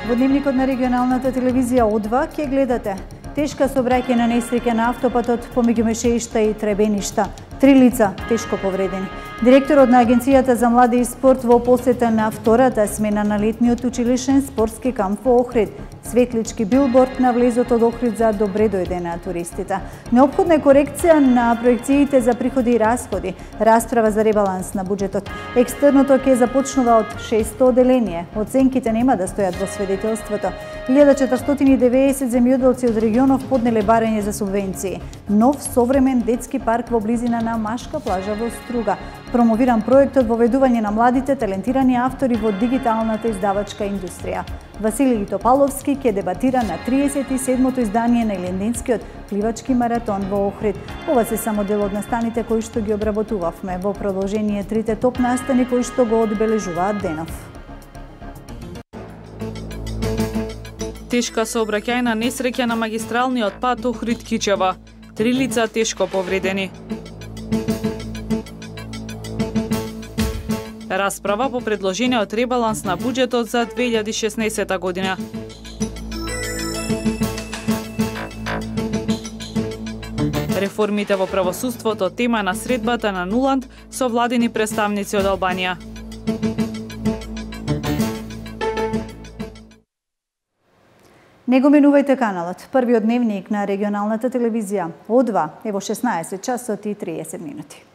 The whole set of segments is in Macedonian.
Во дневникот на регионалната телевизија О2 ќе гледате тешка сообраќајна несреќа на автопатот помеѓу Мешеишта и Требеништа. 3 лица тешко повредени. Директорот на Агенцијата за млади и спорт во посета на втората смена на летниот училишен спортски камп во Охрид. Светлички билборд на влезот од Охрид за добре дојде на туристите. Неопходна е корекција на проекциите за приходи и расходи. Расправа за ребаланс на буџетот. Екстерното ќе започнува од 600 оделение. Оценките нема да стојат во свидетелството. 1490 земјоделци од регионов поднеле барање за субвенции. Нов современ детски парк во близина на Машка плажа во Струга. Промовиран проектот во ведување на младите талентирани автори во дигиталната издавачка индустрија. Василий Топаловски ќе дебатира на 37-то издание на Илинденскиот пливачки маратон во Охрид. Ова се само дел од настаните кои што ги обработувавме. Во продолжение трите топ настани кои што го одбележуваат денов. Тешка сообраќајна несреќа на магистралниот пат Охрид-Кичево. 3 лица тешко повредени. Расправа по предложениот ребаланс на буџетот за 2016 година. Реформите во правосудството тема на средбата на Нуланд со владини представници од Албанија. Не го менувајте каналот. Првиот дневник на регионалната телевизија О2 е во 16 часот и 30 минути.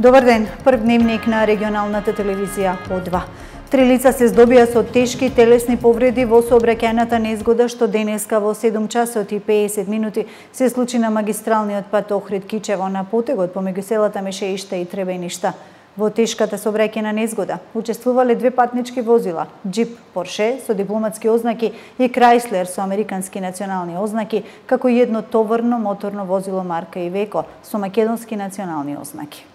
Добар ден, прв дневник на регионалната телевизија О2. 3 лица се здобија со тешки телесни повреди во сообраќајната незгода што денеска во 7 часот и 50 минути се случи на магистралниот пат Охрид-Кичево на потегот помеѓу селата Мешеишта и Требеништа. Во тешката сообраќајна незгода учествувале 2 патнички возила, джип Порше со дипломатски ознаки и Крајслер со американски национални ознаки, како и едно товарно моторно возило марка Ивеко со македонски национални ознаки.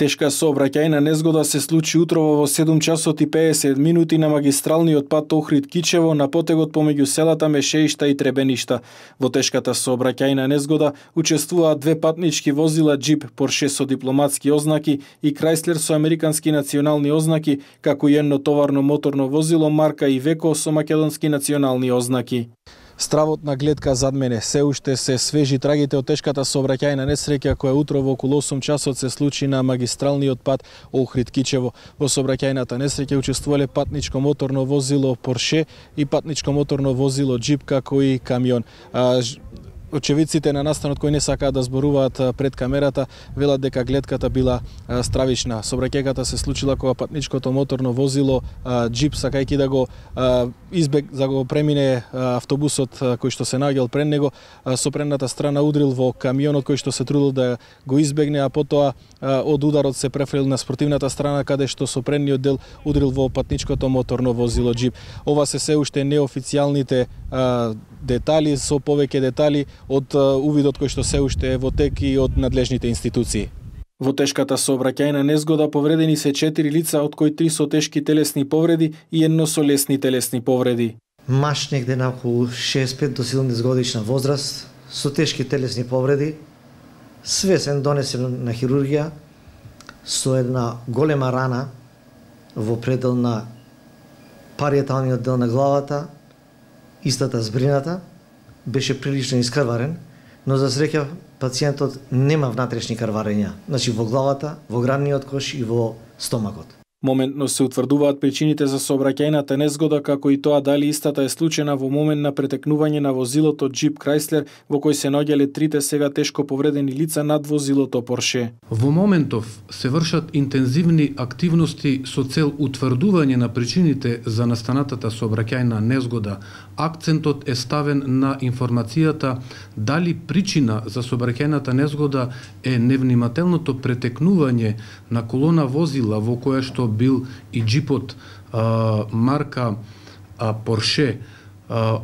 Тешка сообраќајна незгода се случи утрово во 7 часот и 50 минути на магистралниот пат Охрид-Кичево на потегот помеѓу селата Мешеишта и Требеништа. Во тешката сообраќајна незгода учествуваат 2 патнички возила, джип Порше со дипломатски ознаки и Крајслер со американски национални ознаки, како и едно товарно моторно возило марка Ивеко со македонски национални ознаки. Стравот на гледка зад мене, се уште се свежи трагите од тешката сообраќајна несреќа која утрово околу 8 часот се случи на магистралниот пат Охрид-Кичево. Во сообраќајната несреќа учествувале патничко моторно возило Порше и патничко моторно возило джип, како и камион. Очевидците на настанот кои не сакаат да зборуваат пред камерата велат дека гледката била стравична. Сообраќајката се случила кога патничкото моторно возило джип, сакајќи да го да го премине автобусот кој што се наоѓал пред него, со предната страна удрил во камионот кој што се трудил да го избегне, а потоа од ударот се префрлил на спротивната страна каде што со предниот дел удрил во патничкото моторно возило джип. Ова се уште неофицијалните детали, со повеќе детали од увидот кој што се уште е во тек и од надлежните институции. Во тешката сообраќајна незгода повредени се 4 лица, од кои 3 со тешки телесни повреди и едно со лесни телесни повреди. Маж негде на околу 65 до 70 годишна возраст, со тешки телесни повреди, свесен донесен на хирургија, со една голема рана во предел на париеталниот дел на главата, истата збрината, беше прилично искрварен, но за среќа пациентот нема внатрешни крварења, значи во главата, во градниот кош и во стомакот. Моментно се утврдуваат причините за сообраќајната незгода, како и тоа дали истата е случена во момент на претекнување на возилото джип Крајслер, во кој се наоѓале 3 сега тешко повредени лица над возилото Порше. Во моментов се вршат интензивни активности со цел утврдување на причините за настанатата сообраќајна незгода. Акцентот е ставен на информацијата дали причина за сообраќајната незгода е невнимателното претекнување на колона возила во која што бил и джипот марка Порше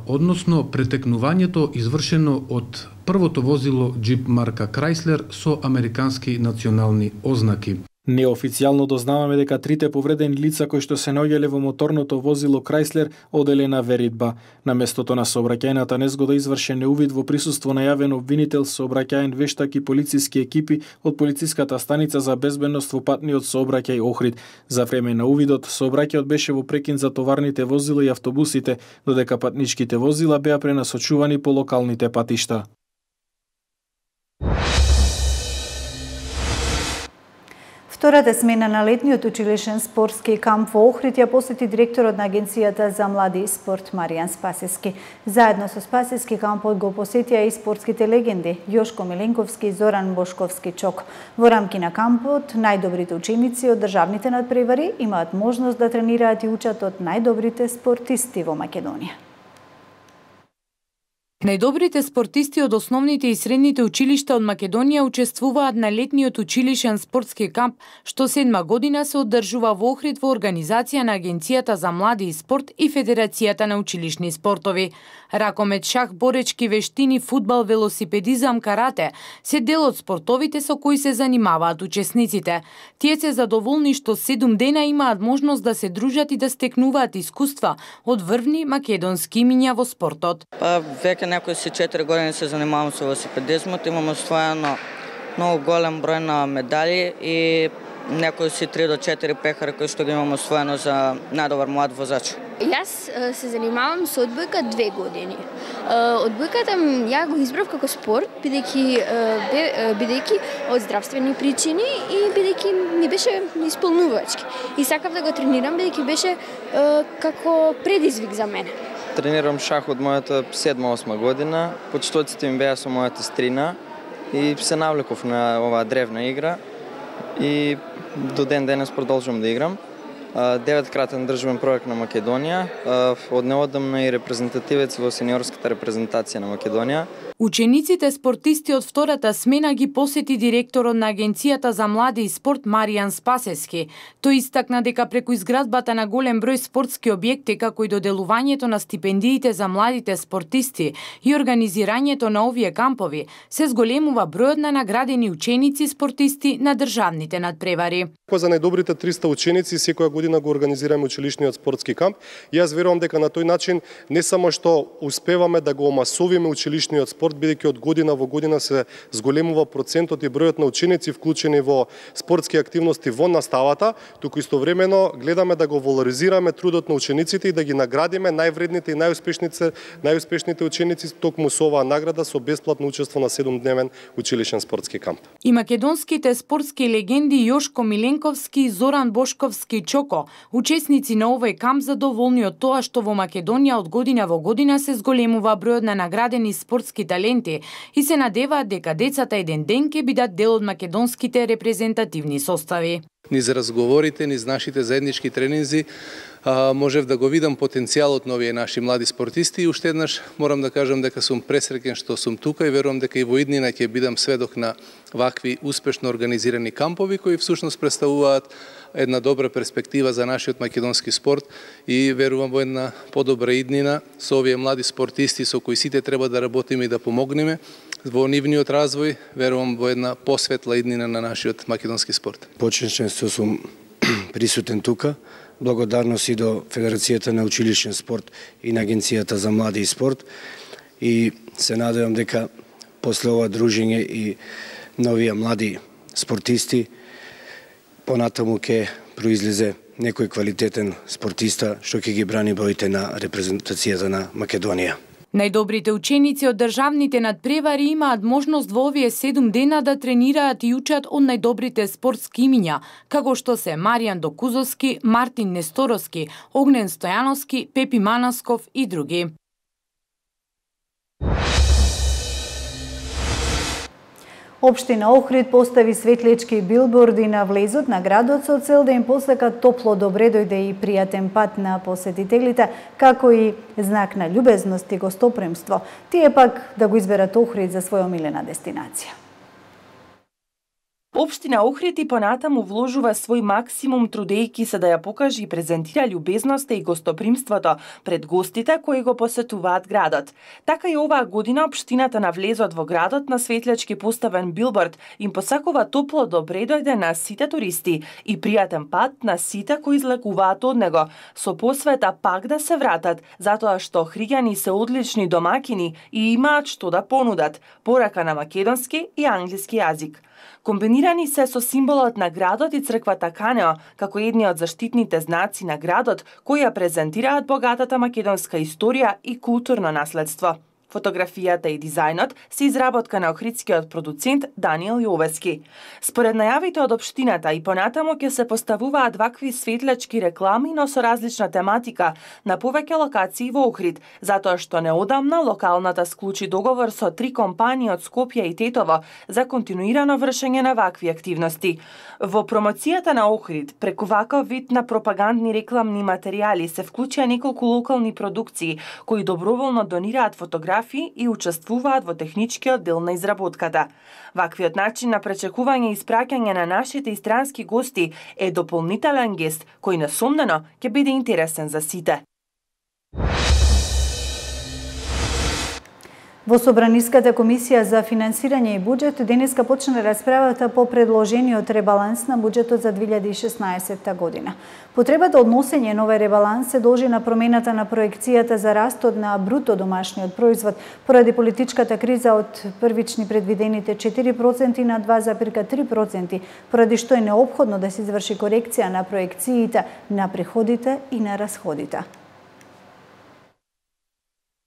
односно претекнувањето извршено од првото возило джип марка Chrysler со американски национални ознаки. Неофицијално дознаваме дека трите повредени лица кои што се наоѓале во моторното возило Chrysler оделе на веридба. На местото на сообраќајната незгода извршен е увид во присуство на јавен обвинител, сообраќајен вештак и полициски екипи од полициската станица за безбедност во патниот сообраќај Охрид. За време на увидот, сообраќајот беше во прекин за товарните возила и автобусите, додека патничките возила беа пренасочувани по локалните патишта. Втората смена на летниот училишен спортски камп во Охрид ја посети директорот на Агенцијата за млади и спорт Маријан Спасевски. Заедно со Спасевски кампот го посетија и спортските легенди Јошко Миленковски и Зоран Бошковски Чок. Во рамки на кампот, најдобрите ученици од државните надпревари имаат можност да тренираат и учат од најдобрите спортисти во Македонија. Најдобрите спортисти од основните и средните училишта од Македонија учествуваат на летниот училишен спортски камп, што 7 година се одржува во Охрид во организација на Агенцијата за млади и спорт и Федерацијата на училишни спортови. Ракомет, шах, боречки вештини, фудбал, велосипедизам, карате се дел од спортовите со кои се занимаваат учесниците. Тие се задоволни што 7 дена имаат можност да се дружат и да стекнуваат искуства од врвни македонски имиња во спортот. Веќе некои си 4 години се занимавам со велосипедизмот, имам освоено многу голем број на медали и некои си 3 до 4 пехари кои што ги имам освоено за најдобар млад возач. Јас се занимавам со одбојка 2 години. Одбојката ја го избрав како спорт, бидејќи од здравствени причини и бидејќи ми беше исполнувачки. И сакав да го тренирам бидејќи беше како предизвик за мене. Тренирам шах од мојата 7-8 година. Почетоците ми беа со мојата стрина и се навлеков на оваа древна игра и до ден денес продолжувам да играм. 9-кратен државен prvак на Македонија, од неодамна и репрезентативец во сениорската репрезентација на Македонија. Учениците спортисти од втората смена ги посети директорот на Агенцијата за млади и спорт Маријан Спасевски. Тој истакна дека преку изградбата на голем број спортски објекти, како и доделувањето на стипендиите за младите спортисти и организирањето на овие кампови, се зголемува бројот на наградени ученици спортисти на државните надпревари. За најдобрите 300 ученици секоја година го организираме училишниот спортски камп. Јас верувам дека на тој начин не само што успеваме да го омасовиме училишниот спорт, бидејќи од година во година се зголемува процентот и бројот на ученици вклучени во спортски активности во наставата, туку истовремено гледаме да го валоризираме трудот на учениците и да ги наградиме највредните и најуспешните ученици токму со оваа награда со бесплатно учество на 7-дневен училишен спортски камп. И македонските спортски легенди Јошко Миленковски и Зоран Бошковски Чоко, учесници на овој камп, задоволни од тоа што во Македонија од година во година се зголемува бројот на наградени спортски таленти и се надеваат дека децата еден ден ќе бидат дел од македонските репрезентативни состави. Низ разговорите, низ нашите заеднички тренинзи, можев да го видам потенцијалот на овие наши млади спортисти и уште еднаш морам да кажам дека сум пресреќен што сум тука и верувам дека и во иднина ќе бидам сведок на вакви успешно организирани кампови кои всушност представуваат една добра перспектива за нашиот македонски спорт и верувам во една подобра иднина со овие млади спортисти со кои сите треба да работиме и да помогнеме во нивниот развој, верувам во една посветла иднина на нашиот македонски спорт. Почнешен што сум присутен тука, благодарност и до Федерацијата на училишен спорт и на Агенцијата за млади и спорт и се надевам дека после ова дружење и новија млади спортисти понатаму ќе произлезе некој квалитетен спортиста што ќе ги брани боите на репрезентацијата на Македонија. Најдобрите ученици од државните надпревари имаат можност во овие 7 дена да тренираат и учат од најдобрите спортски имиња, како што се Маријан Докузовски, Мартин Несторовски, Огнен Стојановски, Пепи Манасков и други. Општина Охрид постави светлички билборди на влезот на градот со цел да им посака топло добре дојде и пријатен пат на посетителите, како и знак на љубезност и гостопремство. Тие пак да го изберат Охрид за своја омилена дестинација. Општина Охрид и понатаму вложува свој максимум трудејќи се да ја покаже и презентира љубезноста и гостопримството пред гостите кои го посетуваат градот. Така и оваа година општината на влезот во градот на светлечки поставен билборд им посакува топло добре дојде на сите туристи и пријатен пат на сите кои излекуваат од него, со посвета пак да се вратат, затоа што охриѓани се одлични домакини и имаат што да понудат, порака на македонски и англиски јазик. Комбинирани се со символот на градот и црквата Канео, како едни од заштитните знаци на градот, кои ја презентираат богатата македонска историја и културно наследство. Фотографијата и дизајнот се изработка на охридскиот продуцент Даниел Јовески. Според најавите од општината и понатаму ќе се поставуваат вакви светлечки реклами, но со различна тематика на повеќе локации во Охрид, затоа што неодамна локалната склучи договор со 3 компании од Скопје и Тетово за континуирано вршење на вакви активности. Во промоцијата на Охрид, преку ваков вид на пропагандни рекламни материјали се вклучија неколку локални продукции кои доброволно донираат фотографии и учествуваат во техничкиот дел на изработката. Ваквиот начин на пречекување и испраќање на нашите и странски гости е дополнителен гест кој несомнено ќе биде интересен за сите. Во Собраниската комисија за финансирање и буџет денеска почна расправата по предложениот ребаланс на буџетот за 2016 година. Потребата од носење на овој ребаланс се должи на промената на проекцијата за растот на бруто домашниот производ поради политичката криза од првични предвидените 4% на 2,3%, поради што е неопходно да се изврши корекција на проекциите на приходите и на расходите.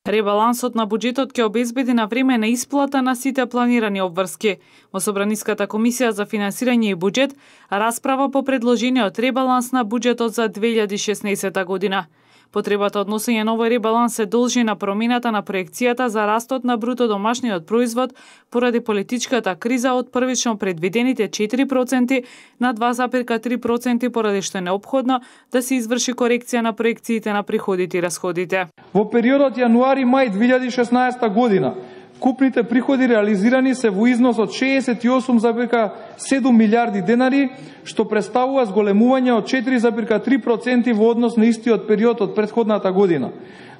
Ребалансот на буџетот ќе обезбеди на време на исплата на сите планирани обврски. Во Собраниската комисија за финансирање и буџет расправа по предложениот ребаланс на буџетот за 2016 година. Потребата од носење на овој ребаланс се должи на промената на проекцијата за растот на бруто домашниот производ поради политичката криза од првично предвидените 4% на 2,3% поради што е неопходно да се изврши корекција на проекциите на приходите и расходите. Во периодот јануари-мај 2016 година купните приходи реализирани се во износ од 68,7 милиарди денари, што представува зголемување од 4,3% во однос на истиот период од претходната година.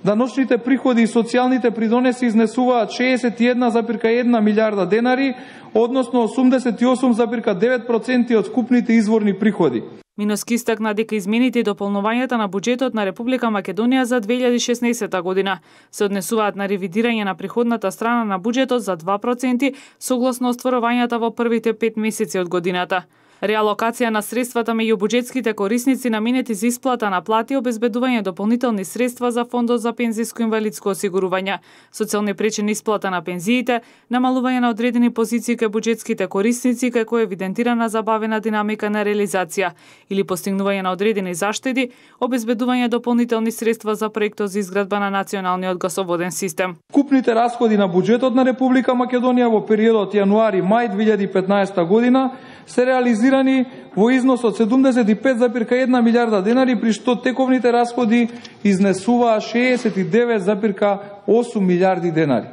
Даночните приходи и социјалните придонеси изнесуваат 61,1 милиарда денари, односно 88,9% од скупните изворни приходи. Миноски истакна дека измените и дополнувањата на буџетот на Република Македонија за 2016 година се однесуваат на ревидирање на приходната страна на буџетот за 2% согласно остварувањата во првите 5 месеци од годината. Реалокација на средствата меѓу буџетските корисници наменети за исплата на плати, обезбедување дополнителни средства за фондот за пензиско инвалидско осигурување, социјални пречени исплата на пензиите, намалување на одредени позиции кај буџетските корисници како евидентирана забавена динамика на реализација или постигнување на одредени заштеди, обезбедување дополнителни средства за проектот за изградба на националниот гасоводен систем. Купните расходи на буџетот на Република Македонија во периодот јануари-мај 2015 година се реализирани во износ од 75,1 милиарда денари, при што тековните расходи изнесуваа 69,8 милиарди денари.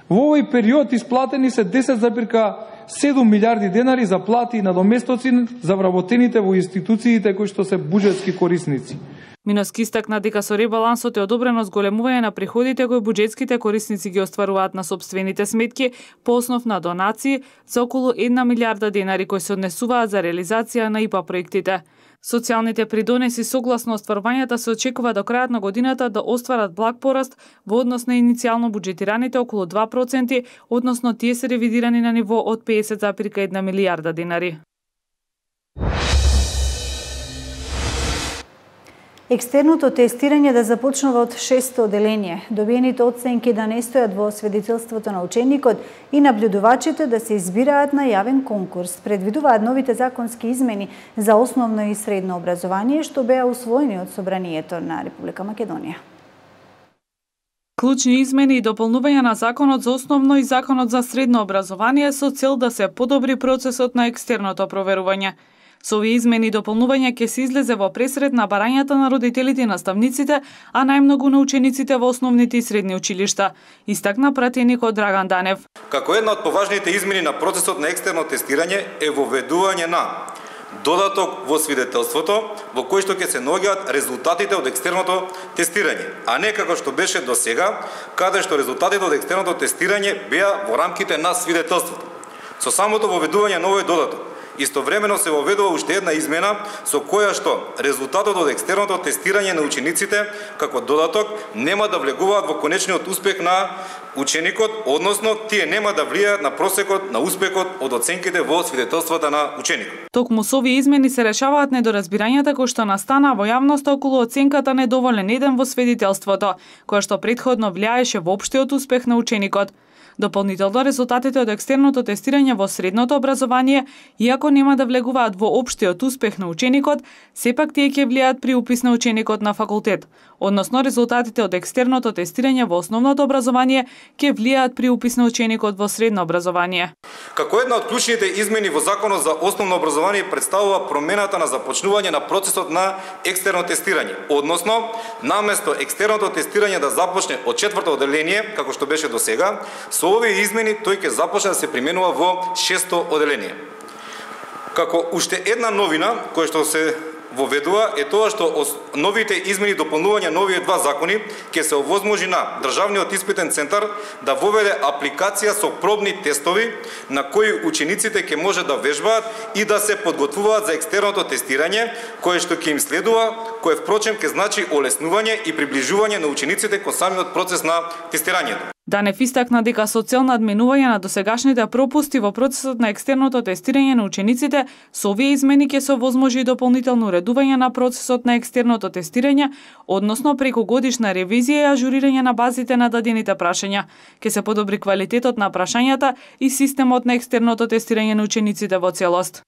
Во овој период исплатени се 10,7 милиарди денари за плати и надоместоци за вработените во институциите кои што се буџетски корисници. Миноски истакна дека со ребалансот е одобрено зголемување на приходите кои буџетските корисници ги остваруваат на сопствените сметки по основ на донации за околу 1 милиарда денари кои се однесуваат за реализација на ИПА проектите. Социјалните придонеси согласно остварувањата се очекува до крајот на годината да остварат благ пораст во однос на иницијално буџетираните околу 2%, односно тие се ревидирани на ниво од 50,1 милиарда денари. Екстерното тестирање да започнува од 6-то оделение, добиените оценки да не стојат во сведетелството на ученикот и наблюдувачите да се избираат на јавен конкурс. Предвидуваат новите законски измени за основно и средно образование, што беа усвоени од Собранието на Република Македонија. Клучни измени и дополнување на Законот за основно и Законот за средно образование со цел да се подобри процесот на екстерното проверување. Со овие измени и дополнувања ќе се излезе во пресред на барањата на родителите и наставниците, а најмногу на учениците во основните и средни училишта, истакна пратеникот Драган Данев. Како една од поважните измени на процесот на екстерно тестирање е воведување на додаток во свидетелството во кој што ќе се наоѓаат резултатите од екстерното тестирање, а не како што беше до сега, каде што резултатите од екстерното тестирање беа во рамките на свидетелството. Со самото воведување на овој додаток, истовремено се воведува уште една измена со која што резултатот од екстерното тестирање на учениците како додаток нема да влегуваат во конечниот успех на ученикот, односно тие нема да влијаат на просекот на успехот од оценките во свидетелствата на ученикот. Токму со овие измени се решаваат недоразбирањата кои што настана во јавноста околу оценката недоволен еден во свидетелството, која што претходно влијаеше во општиот успех на ученикот. Дополнително, резултатите од екстерното тестирање во средното образование, иако нема да влегуваат во општиот успех на ученикот, сепак тие ќе влијаат при упис на ученикот на факултет. Односно, резултатите од екстерното тестирање во основното образование ќе влијаат при упис на ученикот во средно образование. Како една од клучните измени во Законот за основно образование представува промената на започнување на процесот на екстерно тестирање, односно, наместо екстерното тестирање да започне од 4-то оделение, како што беше до сега, со овие измени тој ќе започне да се применува во 6-то оделение. Како уште една новина која што се воведува е тоа што новите измени и дополнувања на овие два закони ќе се овозможи на Државниот испитен центар да воведе апликација со пробни тестови на кои учениците ќе може да вежбаат и да се подготвуваат за екстерното тестирање, кое што ќе им следува, кое впрочем ќе значи олеснување и приближување на учениците кон самиот процес на тестирањето. Данев истакна дека со цел на адменување на досегашните пропусти во процесот на екстерното тестирање на учениците, со овие измени ќе се овозможи и дополнително уредување на процесот на екстерното тестирање, односно преку годишна ревизија и ажурирање на базите на дадените прашања. Ќе се подобри квалитетот на прашањата и системот на екстерното тестирање на учениците во целост.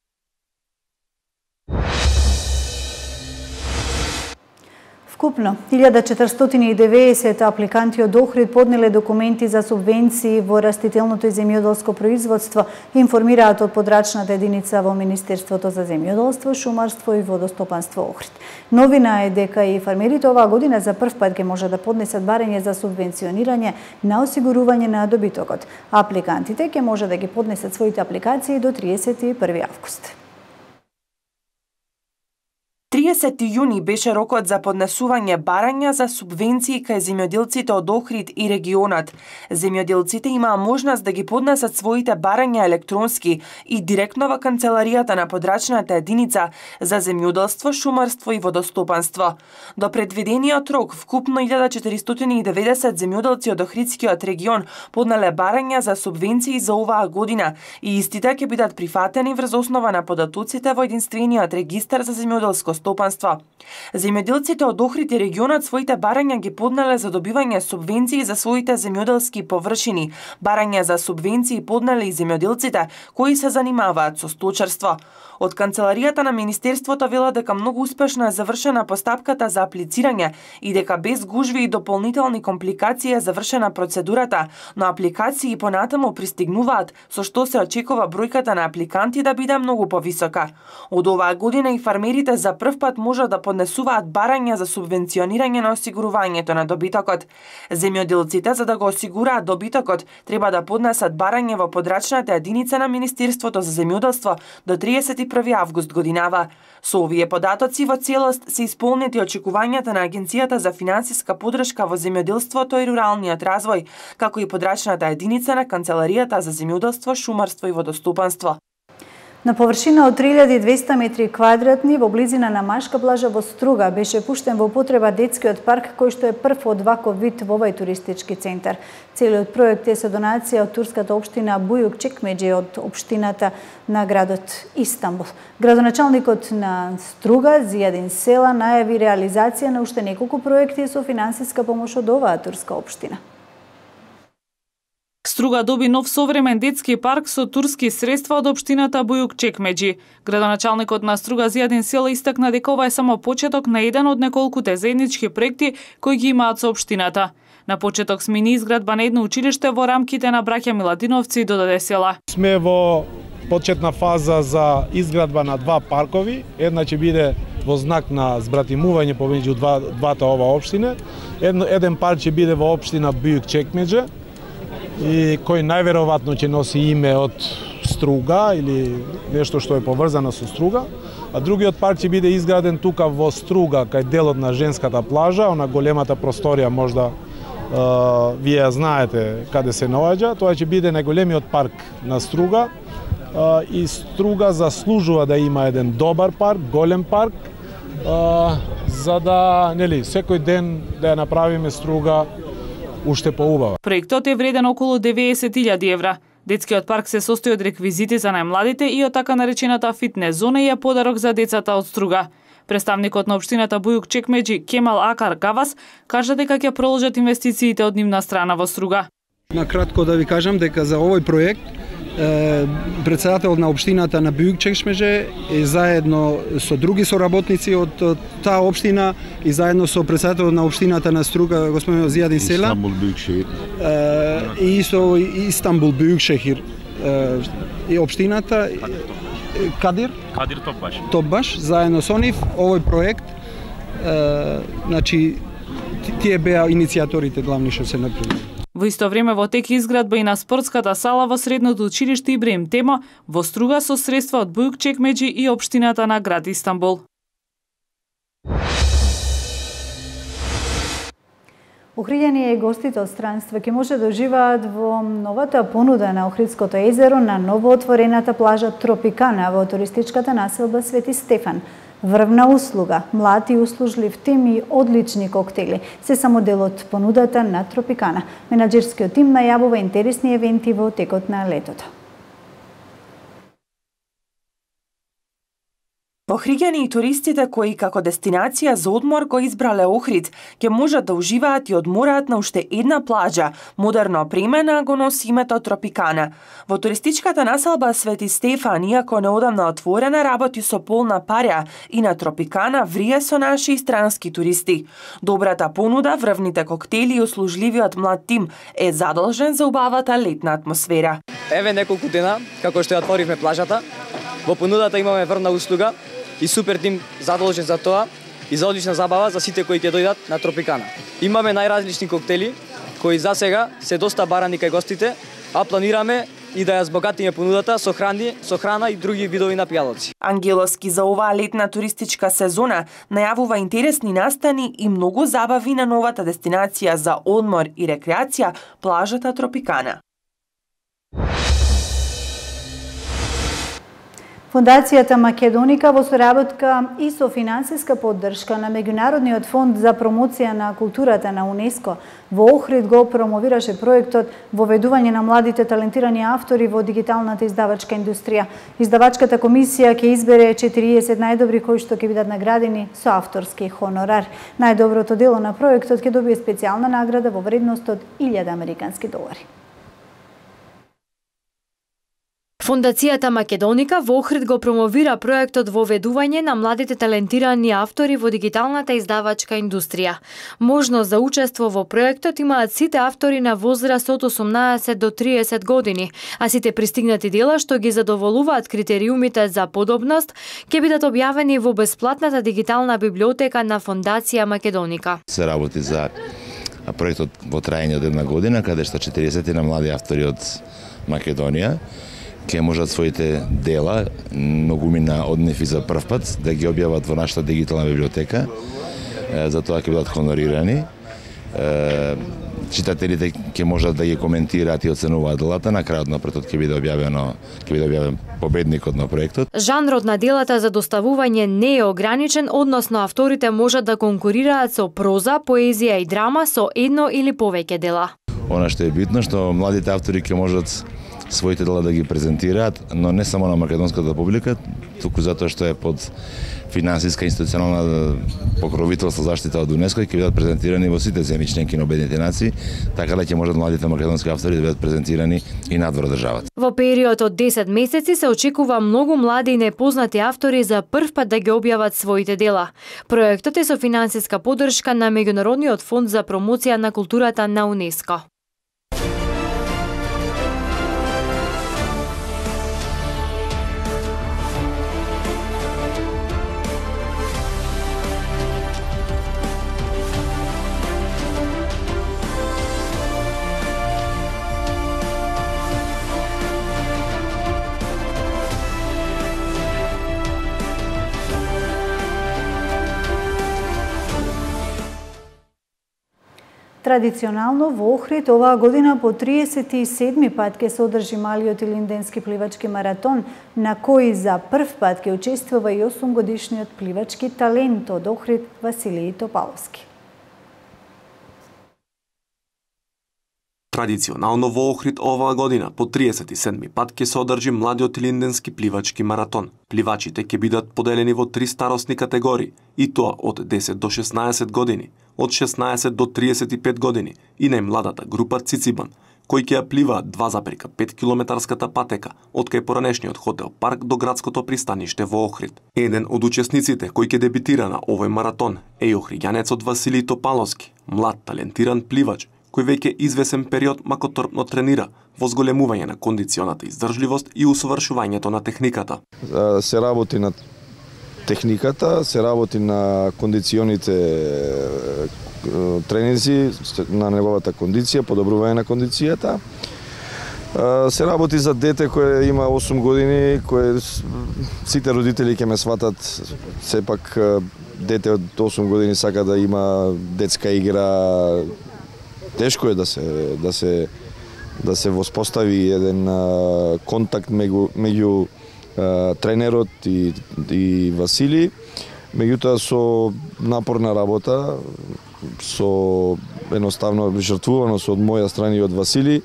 Вкупно, 1490 апликанти од Охрид поднеле документи за субвенции во растителното и земјоделско производство, информираат од подрачната единица во Министерството за земјоделство, шумарство и водостопанство Охрид. Новина е дека и фармерите оваа година за прв пат ќе може да поднесат барање за субвенционирање на осигурување на добитокот. Апликантите ќе може да ги поднесат своите апликации до 31 август. 30 јуни беше рокот за поднесување барања за субвенции кај земјоделците од Охрид и регионот. Земјоделците имаа можност да ги поднесат своите барања електронски и директно во канцеларијата на подрачната единица за земјоделство, шумарство и водостопанство. До предвидениот рок, вкупно 1490 земјоделци од Охридскиот регион поднале барања за субвенции за оваа година и истите ќе бидат прифатени врз основа на податоците во единствениот регистар за земјоделско стопанство. Земјоделците од Охрид и регионот своите барања ги поднале за добивање субвенции за своите земјоделски површини. Барања за субвенции поднале и земјоделците кои се занимаваат со сточарство. Од канцеларијата на Министерството вела дека многу успешно е завршена постапката за аплицирање и дека без гужви и дополнителни компликации е завршена процедурата, но апликации понатаму пристигнуваат, со што се очекува бројката на апликанти да биде многу повисока. Од оваа година и фармерите за прв пат може да поднесуваат барања за субвенционирање на осигурувањето на добитокот. Земјоделците, за да го осигураат добитокот, треба да поднесат барање во подрачната единица на Министерството за земјоделство до 31 август годинава. Со овие податоци во целост се исполнети очекувањата на Агенцијата за финансиска поддршка во земјоделството и руралниот развој, како и подрачната единица на Канцеларијата за земјоделство, шумарство и водостопанство. На површина од 3200 метри квадратни во близина на Машка плажа во Струга беше пуштен во употреба детскиот парк кој што е прв од ваков вид во овој туристички центар. Целиот проект е со донација од турската општина Бујук Чекмеџи од општината на градот Истанбул. Градоначалникот на Струга Зијадин Села најави реализација на уште неколку проекти со финансиска помош од оваа турска општина. Струга доби нов современ детски парк со турски средства од општината Бујук Чекмеџи. Градоначалникот на Струга Зијадин Села истакна дека ова е само почеток на еден од неколкуте заеднички проекти кои ги имаат со општината. На почеток смени изградба на едно училиште во рамките на браќа Миладиновци и Додаде Села. Сме во почетна фаза за изградба на 2 паркови. Една ќе биде во знак на збратимување помеѓу двата ова општина. Еден парк ќе биде во општина Бујук Чекмеџа и кој најверојатно ќе носи име од Струга или нешто што е поврзано со Струга. А другиот парк ќе биде изграден тука во Струга, кај делот на женската плажа, она големата просторија можда вие знаете каде се наоѓа. Тоа ќе биде најголемиот парк на Струга и Струга заслужува да има еден добар парк, голем парк, за да, нели, секој ден да ја направиме Струга уште поубава. Проектот е вреден околу 90.000 евра. Детскиот парк се состои од реквизити за најмладите и од така наречената фитнес зона и е подарок за децата од Струга. Представникот на општината Бујук Чекмеџи Кемал Акар Гавас кажа дека ќе продолжат инвестициите од нивна страна во Струга. На кратко да ви кажам дека за овој проект председател на општината на Бујук Чекмеџи е заедно со други соработници од таа општина и заедно со председател на општината на Струга господин Зијадин Села и со Истанбул Бујукшехир и општината Кадир Топбаш заедно со нив овој проект, значи тие беа иницијаторите главни што се направи. Во исто време во тек изградба и на спортската сала во средното училиште Ибраим Темо во Струга со средства од Бујук Чекмеџи и општината на град Истанбул. Охриѓани и гостите од странство ќе може да уживаат во новата понуда на Охридското езеро на новоотворената плажа Тропикана во туристичката населба Свети Стефан. Врвна услуга, млад и услужлив тим и одлични коктели се само дел од понудата на Тропикана. Менаџерскиот тим најавува интересни евенти во текот на летото. Охриѓани и туристите кои како дестинација за одмор го избрале Охрид, ќе можат да уживаат и одмораат на уште една плажа, модерно опремена, го носи името Тропикана. Во туристичката населба Свети Стефан, иако неодамна отворена, работи со полна парја и на Тропикана врие со наши и странски туристи. Добрата понуда, врвните коктели и услужливиот млад тим е задолжен за убавата летна атмосфера. Еве неколку дена како што ја отворивме плажата, во понудата имаме врвна услуга и супер тим задолжен за тоа и за одлична забава за сите кои ќе дојдат на Тропикана. Имаме најразлични коктели кои за сега се доста барани кај гостите, а планираме и да ја збогатиме понудата со храна и други видови напијалоци. Ангеловски за оваа летна туристичка сезона најавува интересни настани и многу забави на новата дестинација за одмор и рекреација, плажата Тропикана. Фондацијата Македоника во соработка и со финансиска поддршка на Меѓународниот фонд за промоција на културата на УНЕСКО во Охрид го промовираше проектот Воведување на младите талентирани автори во дигиталната издавачка индустрија. Издавачката комисија ќе избере 40 најдобри кои што ќе бидат наградени со авторски хонорар. Најдоброто дело на проектот ќе добие специјална награда во вредност од 1000 американски долари. Фондацијата Македоника во Охрид го промовира проектот Воведување на младите талентирани автори во дигиталната издавачка индустрија. Можност за учество во проектот имаат сите автори на возраст од 18 до 30 години, а сите пристигнати дела што ги задоволуваат критериумите за подобност ќе бидат објавени во бесплатната дигитална библиотека на Фондација Македоника. Се работи за проектот во трајање од една година, каде што 40 на млади автори од Македонија ќе можат своите дела, многумина од нив и за прв пат, да ги објават во нашата дигитална библиотека. За тоа ќе бидат хонорирани. Читателите ќе можат да ги коментираат и оценуваат делата. На крајот на проектот ќе биде објавен победникот на проектот. Жанрот на делата за доставување не е ограничен, односно авторите можат да конкурираат со проза, поезија и драма со едно или повеќе дела. Она што е битно, што младите автори ќе можат своите дела да ги презентираат, но не само на македонската публика, туку затоа што е под финансиска институционална покровителство заштита од УНЕСКО и ќе бидат презентирани во сите земји членки на Обединетите нации, така да ќе можат младите македонски автори да бидат презентирани и надвор државата. Во период од 10 месеци се очекува многу млади и непознати автори за прв пат да ги објават своите дела. Проектот е со финансиска поддршка на Меѓународниот фонд за промоција на културата на УНЕСКО. Традиционално во Охрид оваа година по 37 пат ќе се одржи малиот илинденски пливачки маратон, на кој за прв пат ќе учествува и 8-годишниот пливачки талент од Охрид Василиј Топаловски. Традиционално во Охрид оваа година по 37 пат ќе се одржи младиот илинденски пливачки маратон. Пливачите ќе бидат поделени во 3 старосни категории, и тоа од 10 до 16 години, од 16 до 35 години и најмладата група Цицибан, кои ќе ја пливаат 2,5 километарската патека од кај поранешниот хотел Парк до градското пристаниште во Охрид. Еден од учесниците кој ќе дебитира на овој маратон е и охриѓанецот Василиј Топаловски, млад талентиран пливач, кој веќе извесен период макотрпно тренира во зголемување на кондиционата издржливост и усовршувањето на техниката. Се работи на техниката, се работи на кондиционите тренинзи, на неговата кондиција, подобрување на кондицијата. Се работи за дете кое има 8 години, кое сите родители ќе ме сватат, сепак дете од 8 години сака да има детска игра. Тешко е да се воспостави еден контакт меѓу тренерот и Васили. Меѓутоа со напорна работа, со едноставно жртвуваност од моја страна и од Васили,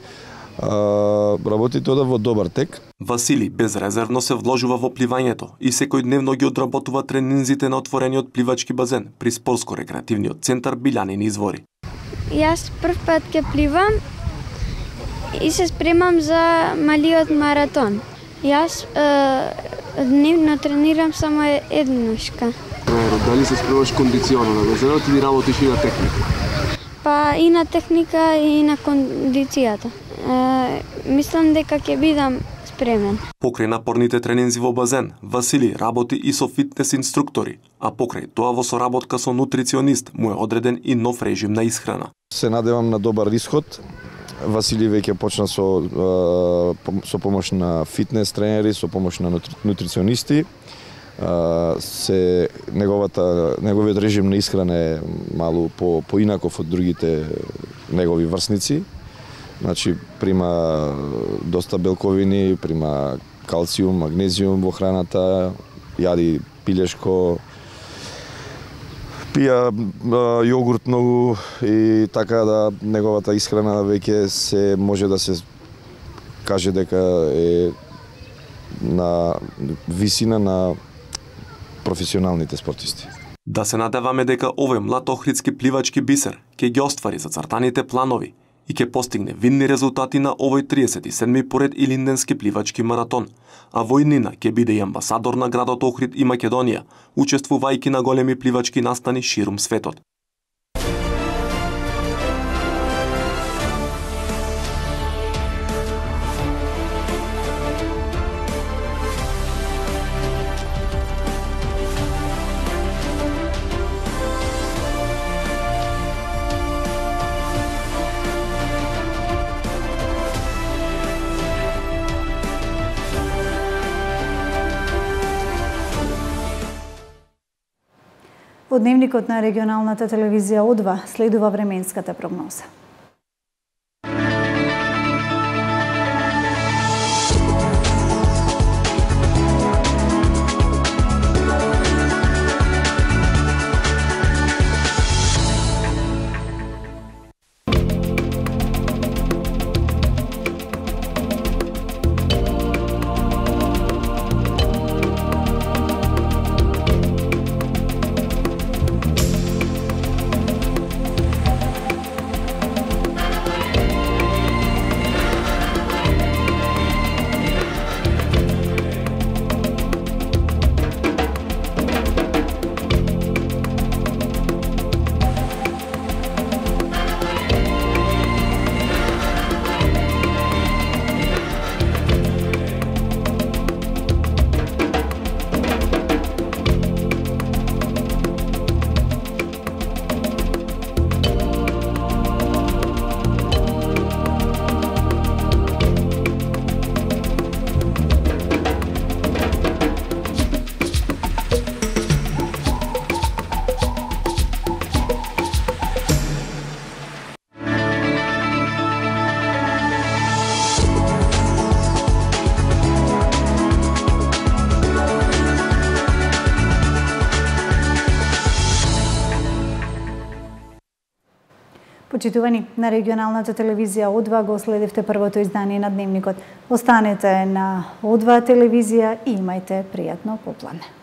работите ода во добар тек. Васили безрезервно се вложува во пливањето и секојдневно ги одработува тренинзите на отворениот пливачки базен при спортско-рекреативниот центар Билјанини извори. Јас прв пат ќе пливам и се спремам за малиот маратон. Јас дневно тренирам само еднушка. Дали се спремаш кондиционно на базенот или работиш и на техника? Па и на техника и на кондицијата. Мислам дека ќе бидам спремен. Покрај напорните тренинзи во базен, Васили работи и со фитнес инструктори, а покрај тоа во соработка со нутриционист му е одреден и нов режим на исхрана. Се надевам на добар исход. Васили веќе почна со помош на фитнес тренери, со помош на нутриционисти. Неговиот режим на исхрана е малку поинаков од другите негови врсници. Значи, прима доста белковини, прима калциум, магнезиум во храната, јади пилешко, пија јогурт многу и така да неговата исхрана веќе се може да се каже дека е на висина на професионалните спортисти. Да се надеваме дека овој млад охридски пливачки бисер ќе ги оствари зацртаните планови и ќе постигне видни резултати на овој 37-ми поред илинденски пливачки маратон, а во иднина ќе биде и амбасадор на градот Охрид и Македонија, учествувајќи на големи пливачки настани ширум светот. Во дневникот на регионалната телевизија О2 следува временската прогноза. Почитувани, на регионалната телевизија О2 го следевте првото издание на Дневникот. Останете на О2 телевизија и имајте пријатно попладне.